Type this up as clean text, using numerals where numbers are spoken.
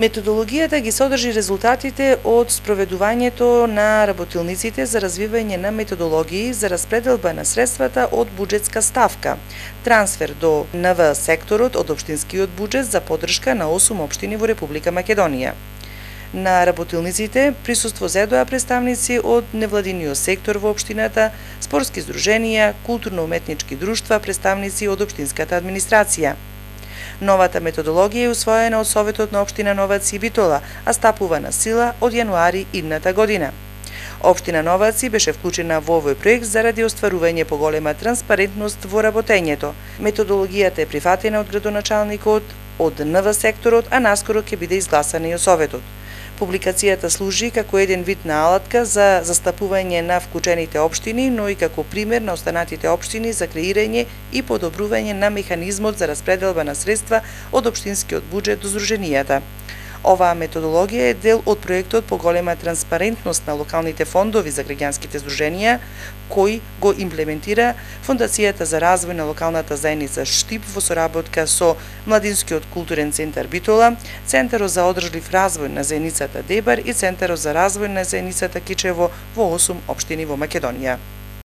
Методологијата ги содржи резултатите од спроведувањето на работилниците за развивање на методологии за распределба на средствата од буџетска ставка, трансфер до НВ секторот од општинскиот буџет за поддршка на 8 општини во Република Македонија. На работилниците присуство зедоа представници од невладиниот сектор во општината, спортски здруженија, културно-уметнички друштва, представници од општинската администрација. Новата методологија е усвоена од Советот на општина Новаци и Битола, а стапува на сила од јануари идната година. Општина Новаци беше вклучена во овој проект заради остварување поголема транспарентност во работењето. Методологијата е прифатена од градоначалникот, од НВ секторот, а наскоро ќе биде изгласана и од Советот. Публикацијата служи како еден вид на алатка за застапување на вклучените општини, но и како пример на останатите општини за креирање и подобрување на механизмот за распределба на средства од општинскиот буџет до здруженијата. Оваа методологија е дел од проектот Поголема транспарентност на локалните фондови за граѓанските здруженија, кој го имплементира Фондацијата за развој на локалната заедница Штип во соработка со Младинскиот културен центар Битола, Центарот за одржлив развој на заедницата Дебар и Центарот за развој на заедницата Кичево во 8 општини во Македонија.